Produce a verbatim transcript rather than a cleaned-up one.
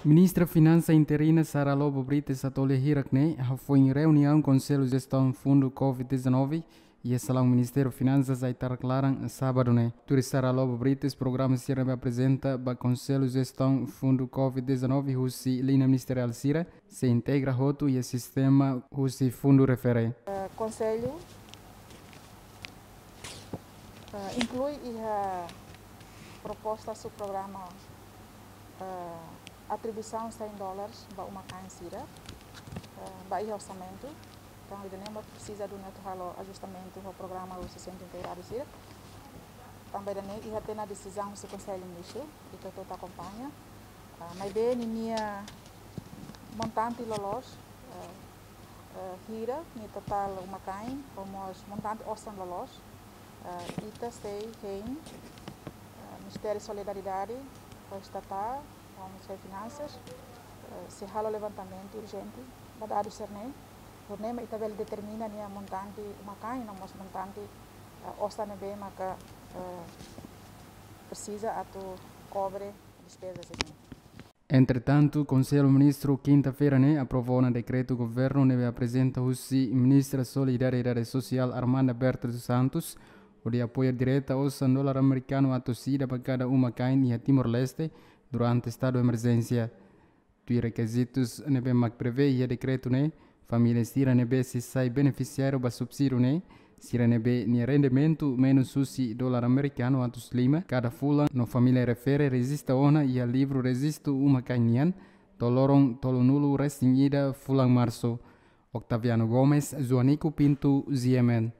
Ministra Finansa interina Sara Lobo Brites Atoli hirak ne'e hafoin reuniaun Konsellu Jestaun Fundu Covid dezanove iha salaun Ministériu Finansas Aitarak Laran sábadu ne'e. Tuir Sara Lobo Brites, programa sira ne'ebé aprezenta ba Konsellu Jestaun Fundu Covid dezanove husi liña ministeriál sira sei integra hotu iha sistema husi fundu refere. Eh, Konsellu, eh, inklui iha proposta subprograma, eh, atribuisaun cem dólares ba uma-kain sira, eh, ba iha orsamentu. Entaun, ida-ne'e mós presiza duni atu halo ajustamentu ho programa husi Sentru Integradu sira. Tanba ida-ne'e iha tiha ona desizaun husi Konsellu Ministru, ita hotu akompaña. Ah, maibé ninia montante loloos, eh, eh, hira, nia totál uma-kain, ho mós montante osan loloos, eh, ita sei hein, eh, Ministériu Solidariedade, ho Estatál, ho Ministériu Finansas, eh, sei halo levantamentu urjente ba dadus sira-ne'e, hodi nune'e mak ita bele determina nia montante uma-kain, no mós montante, eh, osan ne'ebé maka, eh, presiza atu kobre despeza sira-ne'e. Entretantu, Konsellu Ministru kinta-feira ne'e aprova ona dekretu governu ne'ebé aprezenta husi Ministra Solidariedade Sosiál Armanda Berta dos Santos, hodi apoia direta osan dolar amerikanu atus ida ba kada uma-kain iha Timor-Leste durante estadu emerjénsia. Tuir rekizitus ne'ebé mak prevee iha dekretu ne'e, família sira ne'ebé sei sai benefisiáriu ba subsídiu ne'e, sira ne'ebé nia rendimentu menus husi dolar amerikanu atus lima kada fulan, no família refere rejista ona iha livru rejistu uma-kain nian to'o loron tolunulu resin ida fulan Marsu. Octaviano Gomes, Joanico Pinto, G M N.